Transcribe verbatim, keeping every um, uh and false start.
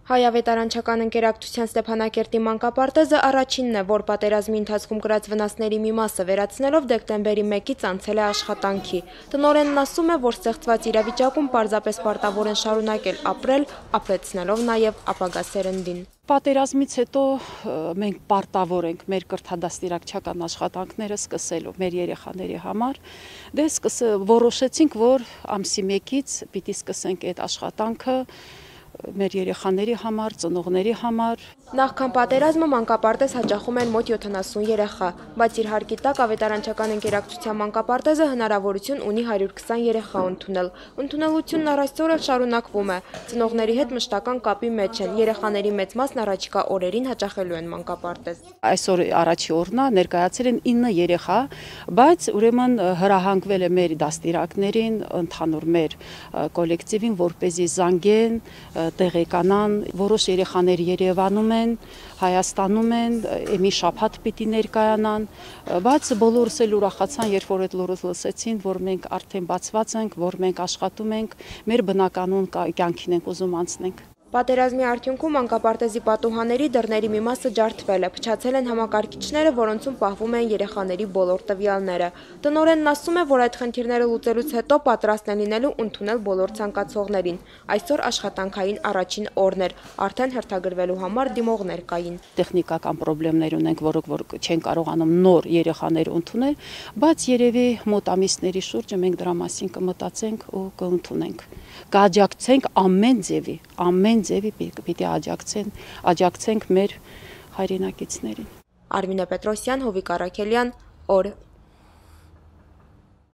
Հայավետարանչական ընկերակցության Ստեփանակերտի մանկապարտեզը առաջինն է, որ պատերազմի ընթացքում կրած վնասների մի մասը վերացնելով դեկտեմբերի մեկից անցել է աշխատանքի։ Տնօրենն ասում է, որ ստեղծված իրավիճակում պարզապես պարտավոր են շարունակել ապրել, ապրեցնելով նաև ապագա սերնդին։ Պատերազմից հետո մենք պարտավոր ենք մեր կրթադաստիարակչական աշխատանքները սկսելու մեր երեխաների համար։ Դե որոշեցինք, որ ամսի մեկից պիտի սկսենք այդ աշխատանքը մեր երեխաների համար, ծնողների համար։ Նախքան պատերազմը մանկապարտեզ հաճախում են մոտ յոթանասուն երեխա, բայց իր հարկի տակ ավետարանչական ընկերակցության մանկապարտեզը հնարավորություն ունի հարյուր քսան երեխա ընդունել։ Ընդունելությունն առ այսօր էլ շարունակվում է։ Ծնողների հետ մշտական կապի մեջ են, երեխաների մեծ մասն առաջիկա օրերին հաճախելու են մանկապարտեզ։ Այսօր առաջի օրն է, ներկայացել են ինը երեխա, բայց ուրեմն հրահանգվել է մեր դաստիարակներին, ընդհանուր մեր կոլեկտիվին, որպեսզի զանգեն, տեղեկանան, որոշ երեխաներ Երևանում են, Հայաստանում են, մի շաբաթ պիտի ներկայանան, բայց բոլորս էլ ուրախացան, երբ որ այդ լուրը լսեցին, որ մենք արդեն բացված ենք, որ մենք աշխատում ենք, մեր բնականոն կյանքին ենք ուզում անցնենք։ Պատերազմի արդյունքում մանկապարտեզի պատուհանների դռների մի մասը ջարդվել է, փչացել են համակարգիչները, որոնցում պահվում են երեխաների բոլոր տվյալները։ Տնօրենն ասում է, որ այդ խնդիրները լուծելուց հետո պատրաստ են լինելու ընդունել բոլոր ցանկացողներին։ Այսօր աշխատանքային առաջին օրն էր, արդեն հերթագրվելու համար դիմողներ կային։ Տեխնիկական խնդիրներ ունենք, որոնք որ չեն կարողանում նոր երեխաներ ընդունել, բայց երևի մոտ ամիսների շուրջը մենք դրա մասին կմտածենք ու կընդունենք։ Կաջակցենք ամեն ձևի, ամեն ձևի պիտի աջակցեն, աջակցենք մեր հայրենակիցներին։ Արմինե Պետրոսյան, Հովիկ Առաքելյան, օր